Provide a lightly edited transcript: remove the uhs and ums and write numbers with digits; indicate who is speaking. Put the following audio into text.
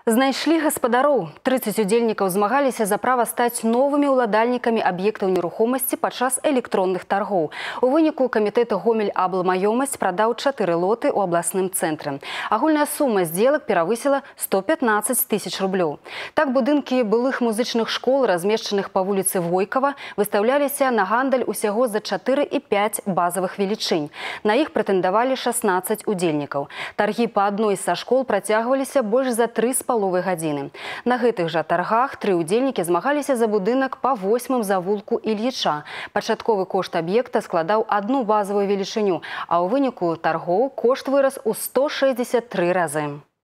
Speaker 1: Знайшлі гаспадароў. 30 удзельнікаў змагаліся за права стаць новымі ўладальнікамі аб'ектаў нерухомасці падчас электронных таргоў. У выніку камітэт Гомель-Аблмаёмасць прадаў 4 лоты ў абласным цэнтры. Агульная сума здзелак перавысіла 115 тысяч рублёў. Так будынкі былых музычных школ, размешчаных па вуліцы Войкава, выстаўляліся на гандаль усяго за 4 і 5 базавых велічынь. На іх прэтэндавалі 16 удзельнікаў. Таргі па адной са школ працягваліся больш за 3,5 гадзіны. На гэтых жа таргах 3 удзельнікі змагаліся за будынак па 8-м завулку Ільіча. Пачатковы кошт аб'екта складаў 1 базавую велічыню, а ў выніку таргоў кошт вырас у 163 разы.